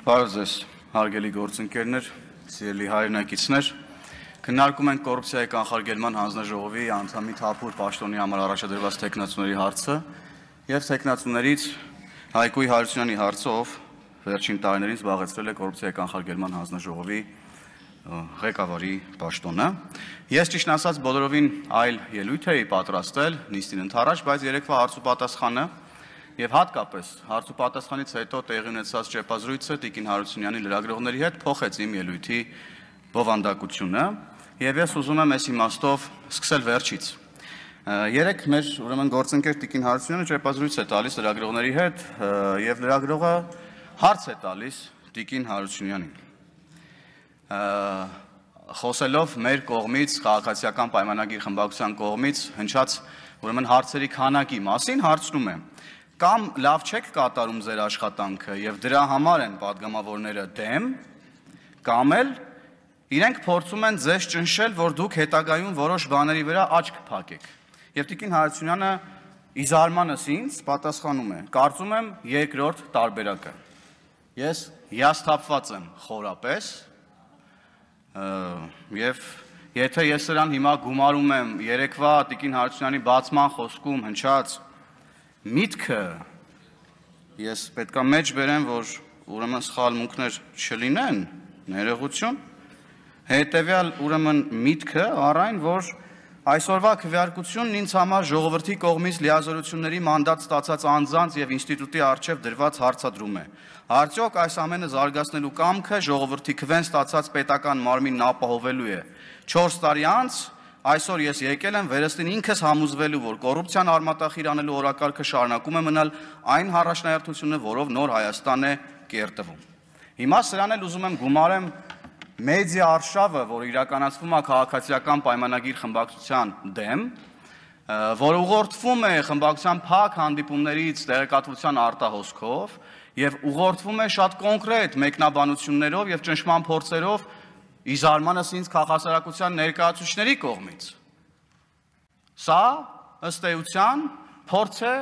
Բարև ձեզ, հարգելի գործընկերներ, սիրելի հայրենակիցներ, քննարկում ենք կոռուպցիայի կանխարգելման հանձնաժողովի անդամի Թափուր պաշտոնի համար առաջադրված թեկնածուների հարցը եւ թեկնածուներից Հայկույ Հարությունյանի հարցը, ով վերջին տարիներին զբաղեցրել է կոռուպցիայի կանխարգելման հանձնաժողովի ղեկավարի պաշտոնը։ Ես ճիշտ ասած բոլորովին այլ ելույթ էի պատրաստել նիստին ընդառաջ, բայց երեկվա հարց ու պատասխանը եւ հատկապես հարց ու պատասխանից հետո տեղի ունեցած ճեպազրույցը Տիկին Հարությունյանի լրագրողների հետ փոխեց իմ ելույթի բովանդակությունը եւ ես ուզում եմ այս իմաստով սկսել վերջից։ Երեք մեր ուրեմն գործընկեր Տիկին Հարությունյանը ճեպազրույց է տալիս լրագրողների հետ եւ լրագրողը հարց է տալիս Տիկին Հարությունյանին։ Խոսելով մեր կողմից քաղաքացիական պայմանագիր խմբակցության կողմից հնչած ուրեմն հարցերի քանակի մասին հարցնում եմ. Կամ լավ չեք կատարում ձեր աշխատանքը եւ դրա համար են падգամավորները դեմ, կամ էլ իրենք փորձում են ձեզ ճնշել, որ դուք հետագայում որոշ բաների վրա աչք փակեք։ Եվ Տիկին Հարությունյանը ի զարմանս ինձ պատասխանում է. կարծում եմ երկրորդ տարբերակը։ Ես հիասթափված եմ խորապես եւ եթե ես նրան հիմա գումարում եմ երեկվա Տիկին Հարությունյանի բացման խոսքում հնչած միտքը, ես պետք է մեջ բերեմ, որ ուրեմն սխալմունքներ չլինեն, ներողություն, հետևյալ ուրեմն միտքը առայն, որ այսօրվա քվեարկությունն ինձ համար ժողովրդի կողմից լիազորությունների մանդատ ստացած անձանց եւ ինստիտուտի առջեւ դրված հարցադրում է։ Արդյոք այս ամենը զարգացնելու կամքը ժողովրդի քվեն ստացած պետական մարմինն ապահովելու է։ 4 տարի անց այսօր ես եկել եմ վերստին ինքս համոզվելու, որ կոռուպցիան արմատախիր անելու օրակարգը շարունակում է մնալ այն առաջնահերթությունը, որով նոր Հայաստան է կերտվում։ Հիմա սրան էլ ուզում եմ գումարեմ մեդիա արշավը, որ իրականացվում է քաղաքացիական պայմանագիր խմբակցության դեմ, որ ուղղորդվում է խմբակցության փակ հանդիպումներից տեղեկատվության արտահոսքով եւ ուղղորդվում է շատ կոնկրետ մեկնաբանություններով եւ ճնշման փորձերով ի զարմանս ինձ քաղաքասարակության ներկայացուցիչների կողմից։ Սա ըստ էության փորձ է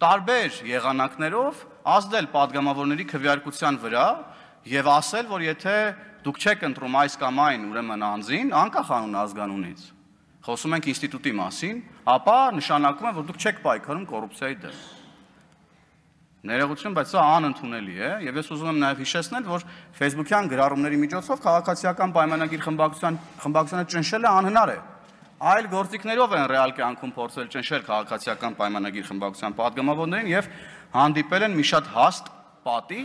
տարբեր եղանակներով ազդել падգամավորների քվեարկության վրա եւ ասել, որ եթե դուք չեք ընտրում այս կամ այն ուրեմն անձին, անկախ անուն ազգանունից, խոսում ենք ինստիտուտի մասին, ապա նշանակում է, որ դուք չեք պայքարում կոռուպցիայի դեմ։ Ներողություն, բայց սա անընդունելի է եւ ես ուզում եմ նաեւ հիշեցնել, որ Facebook-յան գրառումների միջոցով քաղաքացիական պայմանագիր խմբակցությանը ճնշելը անհնար է։ Այլ գործիքներով են ռեալ կյանքում փորձել ճնշել քաղաքացիական պայմանագիր խմբակցության падգամավորներին եւ հանդիպել են մի շատ հաստ պատի,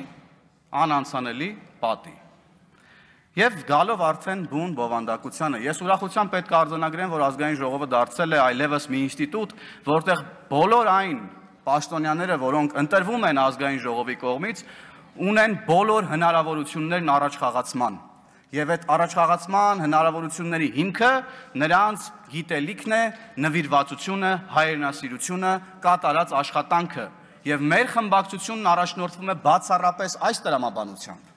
անանցանելի պատի։ Եվ գալով արդեն բուն բովանդակությանը, ես ուրախությամբ պետք է արձանագրեմ, որ ազգային ժողովը դարձել է այլևս մի ինստիտուտ, որտեղ բոլոր այն պաշտոնյաները, որոնք ընտրվում են ազգային ժողովի կողմից, ունեն բոլոր հնարավորություններն առաջխաղացման։ Եվ այդ առաջխաղացման հնարավորությունների հիմքը նրանց գիտելիքն է, նվիրվածությունը, հայրենասիրությունը, կատարած աշխատանքը։ Եվ մեր խմբակցությունն առաջնորդվում է բացառապես այս տրամաբանությամբ։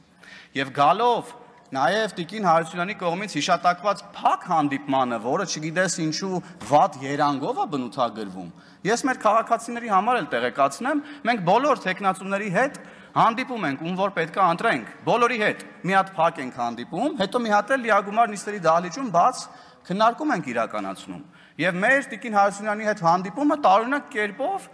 Եվ գալով նաև Տիկին Հարությունյանի կողմից հիշատակված փակ հանդիպմանը, որը չգիտես ինչու վատ երանգով է բնութագրվում, ես մեր քաղաքացիների համար էլ տեղեկացնեմ, մենք բոլոր թեկնածուների հետ հանդիպում ենք, ում որ պետք է ընտրենք, բոլորի հետ մի հատ փակ ենք հանդիպում, հետո մի հատ էլ լիագումար նիստերի դահլիճում բաց քննարկում ենք իրականացնում։ Եվ մեր Տիկին Հարությունյանի հետ հանդիպումը տարօրինակ կերպով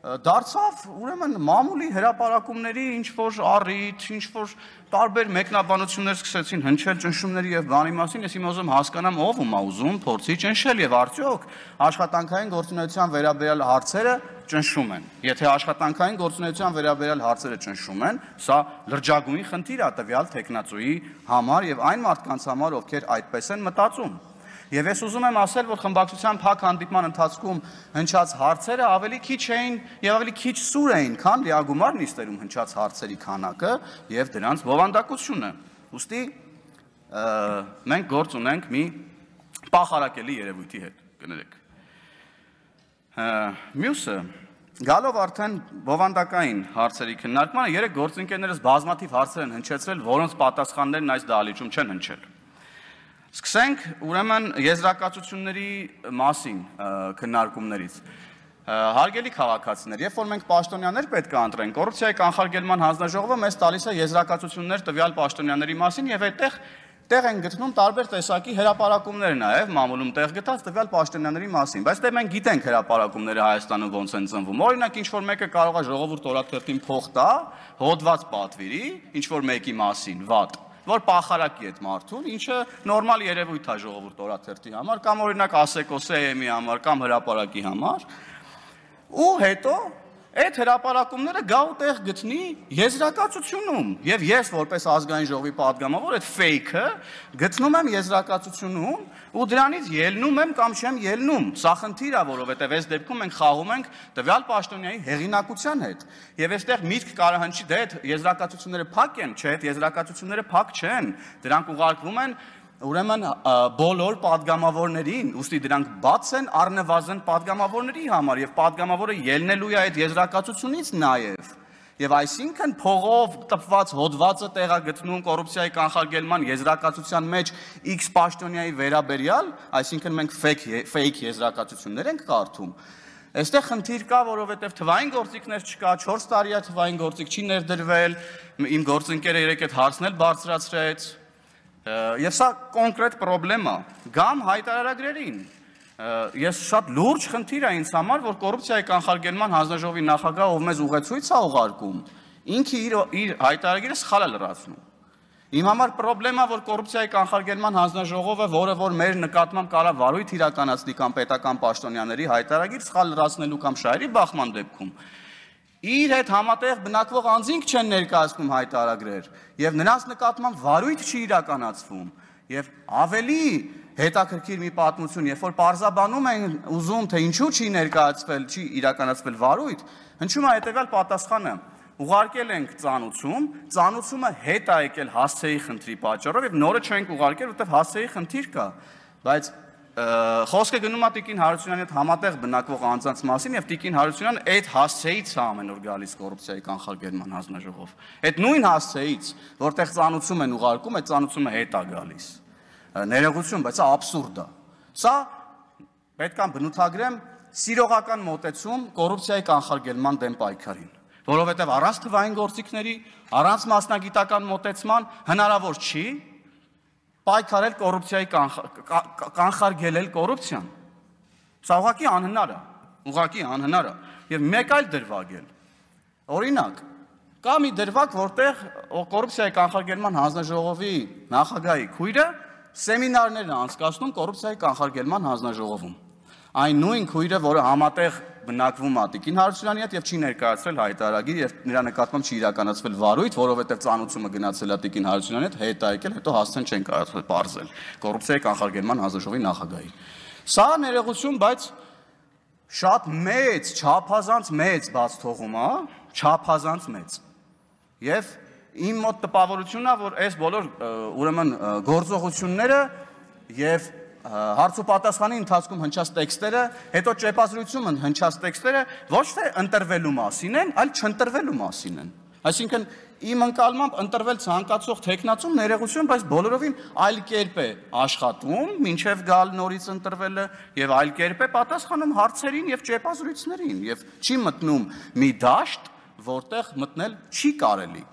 դարձավ ուրեմն մամուլի հրապարակումների ինչ-որ առիթ, ինչ-որ տարբեր մեկնաբանություններ սկսեցին հնչել ճնշումների եւ բանի մասին, ես հիմա ուզում հասկանամ ով ում է ուզում փորձի ճնշել եւ արդյոք աշխատանքային գործունեության վերաբերյալ հարցերը ճնշում են։ Եթե աշխատանքային գործունեության վերաբերյալ հարցերը ճնշում են, սա լրջագույն խնդիր է տվյալ տեխնացուի համար եւ այն մարդկանց համար, ովքեր այդպես են մտածում։ Եվ ես ուզում եմ ասել, որ խմբակցության փակ հանդիպման ընթացքում հնչած հարցերը ավելի քիչ էին եւ ավելի քիչ սուր էին, քան լիագումար նիստերում հնչած հարցերի քանակը եւ դրանց բովանդակությունը։ Ուստի մենք գործ ունենք մի պախարակելի երևույթի հետ, կներեք։ Մյուսը գալով արդեն բովանդակային հարցերի քննարկմանը, երեք գործընկերներս բազմաթիվ հարցեր են հնչեցրել, որոնց պատասխաններն այս դահլիճում չեն հնչել։ Սկսենք ուրեմն եզրակացությունների մասին քննարկումներից։ Հարգելի քաղաքացիներ, երբ որ մենք պաշտոնյաներ պետք է ընտրենք, կոռուպցիայի կանխարգելման հանձնաժողովը մեզ տալիս է եզրակացություններ տվյալ պաշտոնյաների մասին եւ այդտեղ տեղ են գտնում տարբեր տեսակի հրապարակումներ նաև մամուլում տեղ գտած տվյալ պաշտոնյաների մասին, բայց դե մենք գիտենք հրապարակումները Հայաստանում ոնց են ծնվում։ Օրինակ ինչ որ մեկը կարող է ժողովուրդ օրաթերթին փող տա, հոդված պատվիրի, ինչ որ մեկի մասին, վատ, որ պախարակի այդ մարդուն, ինչը նորմալ երևույթ է ժողովուրդ օրաթերթի համար, կամ օրինակ ASECO-CM-ի համար, կամ հրապարակի համար, ու հետո այդ հրապարակումները գա ու տեղ գտնի եզրակացությունում, եւ ես որպես ազգային ժողովի պատգամավոր այդ fake-ը գտնում եմ եզրակացությունում ու դրանից ելնում եմ կամ չեմ ելնում։ Սա խնդիր է, որովհետեւ այս դեպքում մենք խաղում ենք տվյալ պաշտոնյայի հեղինակության հետ։ Եվ այստեղ միտք կարող հնչի դե այդ եզրակացությունները փակ են, չէ, այդ եզրակացությունները փակ չեն։ Դրանք ուղարկվում են ուրեմն բոլոր падգամավորներին, ուստի դրանք բաց են առնվազն падգամավորների համար եւ падգամավորը ելնելու է այդ եզրակացությունից նաեւ։ Եվ այսինքն փողով տպված հոդվածը տեղա գտնում կոռուպցիայի կանխարգելման եզրակացության մեջ X պաշտոնյայի վերաբերյալ, այսինքն մենք fake եզրակացություններ ենք կարդում։ Այստեղ խնդիր կա, որովհետեւ թվային գործիքներ չկա, 4 տարի է թվային գործիք չի ներդրվել, իմ գործընկերը երեք այդ հարցն էլ բարձրացրեց։ Եվ սա կոնկրետ պրոբլեմ է, գամ հայտարարագրերին, ես շատ լուրջ խնդիր է ինձ համար, որ կոռուպցիայի կանխարգելման հանձնաժողովի նախագահը, ով մեզ ուղեցույց է ուղարկում, ինքը իր հայտարարագիրը սխալ է լրացնում։ Իմ համար պրոբլեմ է, որ կոռուպցիայի կանխարգելման հանձնաժողովը, որը որ մեր նկատմամբ կարող վարույթ իրականացնի կամ պետական պաշտոնյաների հայտարարագիր սխալ լրացնելու կամ շահերի բախման դեպքում, իր հետ համատեղ բնակվող անձինք չեն ներկայացնում հայտարարագրեր եւ նրանց նկատմամբ վարույթ չի իրականացվում եւ ավելի հետաքրքիր մի պատմություն, երբ որ պարզաբանում են ուզում թե ինչու չի ներկայացվել, չի իրականացվել վարույթ, հնչում է հետեւյալ պատասխանը. ուղարկել ենք ծանուցում, ծանուցումը հետ է եկել հասցեի խնդրի պատճառով եւ նորը չենք ուղարկել, որտեղ հասցեի խնդիր կա, բայց խոսքը գնում է Տիկին Հարությունյանի հետ համատեղ բնակվող անձանց մասին եւ Տիկին Հարությունյանը այդ հասցեից է ամեն օր գալիս կոռուպցիայի կանխարգելման հանձնաժողով։ Այդ նույն հասցեից, որտեղ ծանուցում են ուղարկում, այդ ծանուցումը հետ է գալիս։ Ներողություն, բայց սա աբսուրդ է։ Սա պետք է բնութագրեմ սիրողական մոտեցում կոռուպցիայի կանխարգելման դեմ պայքարին, որովհետեւ առանց թվային գործիքների, առանց մասնագիտական մոտեցման հնարավոր չի պայքարել կոռուպցիայի կանխարգելել կոռուպցիան։ Սա ուղղակի անհնար է։ Եվ մեկ այլ դրվագել։ Օրինակ, կա մի դրվագ, որտեղ կոռուպցիայի կանխարգելման հանձնաժողովի նախագահի քույրը սեմինարներ է անցկացնում կոռուպցիայի կանխարգելման հանձնաժողովում։ Այն նույն քույրը, որը համատեղ բնակվում է Տիկին Հարությունյանի հետ եւ չի ներկայացրել հայտարարագիր եւ նրա նկատմամբ չի իրականացվել վարույթ, որովհետեւ ծանուցումը գնացել է Տիկին Հարությունյանի հետ, հետ է եկել, հետո հասցեն չեն կարողացել բարձել կոռուպցիայի կանխարգելման հանձնաժողովի նախագահի։ Սա ներողություն, բայց շատ մեծ, չափազանց մեծ բաց թողում է, չափազանց մեծ։ Եվ իմ մոտ տպավորությունն է, որ այս բոլոր ուրեմն գործողությունները եւ հարց ու պատասխանի ընթացքում հնչած տեքստերը, հետո ճեպազրույցում հնչած տեքստերը ոչ թե ընտրվելու մասին են, այլ չընտրվելու մասին են։ Այսինքն իմ ընկալմամբ ընտրվել ցանկացող տեխնացում ներողություն, բայց բոլորովին այլ կերպ է աշխատում, մինչև գալ նորից ընտրվելը եւ այլ կերպ է պատասխանում հարցերին եւ ճեպազրույցներին եւ չի մտնում մի դաշտ, որտեղ մտնել չի կարելի։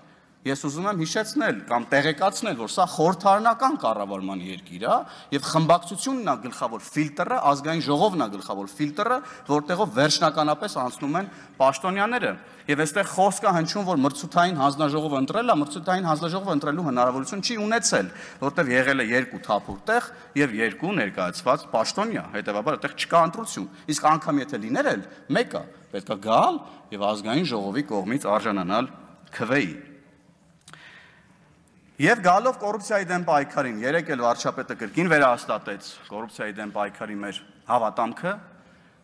Ես ուզում եմ հիշեցնել կամ տեղեկացնել, որ սա խորհրդարանական կառավարման երկիր է եւ խմբակցությունն է գլխավոր ֆիլտրը, ազգային ժողովն է գլխավոր ֆիլտրը, որտեղով վերջնականապես անցնում են պաշտոնյաները։ Եվ այստեղ խոսք է հնչում, որ մրցութային հանձնաժողովը ընտրել է, մրցութային հանձնաժողովը ընտրելու հնարավորություն չի ունեցել, որտեղ եղել է 2 թափուր տեղ եւ 2 ներկայացված պաշտոնյա, հետեւաբար այդտեղ չկա ընտրություն։ Իսկ անգամ եթե լիներ էլ մեկը պետք է գալ եւ ազգային ժողովի կողմից արժանանալ քվեի։ Եվ գալով կոռուպցիայի դեմ պայքարին, երեք էլ վարչապետը կրկին վերահաստատեց կոռուպցիայի դեմ պայքարի մեր հավատամքը,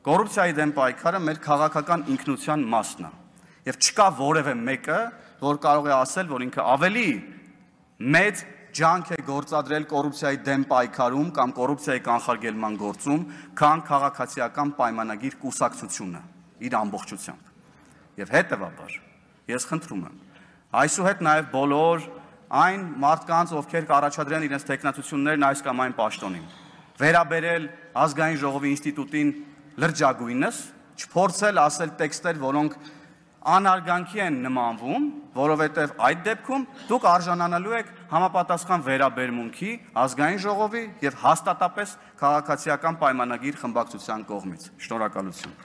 կոռուպցիայի դեմ պայքարը մեր քաղաքական ինքնության մասն է։ Եվ չկա որևէ մեկը, որ կարող է ասել, որ ինքը ավելի մեծ ջանք է գործադրել կոռուպցիայի դեմ պայքարում կամ կոռուպցիայի կանխարգելման գործում, քան քաղաքացիական պայմանագիր կուսակցությունը իր ամբողջությամբ։ Եվ հետևաբար, ես խնդրում եմ, այսուհետ նաև բոլոր այն մարդկանց, ովքեր կառաջադրեն իրենց տեխնացություններն այս կամ այն պաշտոնին, վերաբերել ազգային ժողովի ինստիտուտին լրջագույնս, չփորձել ասել տեքստեր, որոնք անարգանքի են նմանվում, որովհետև այդ դեպքում դուք արժանանալու եք համապատասխան վերաբերմունքի ազգային ժողովի եւ հաստատապես քաղաքացիական պայմանագիր խմբակցության կողմից։ Շնորհակալություն։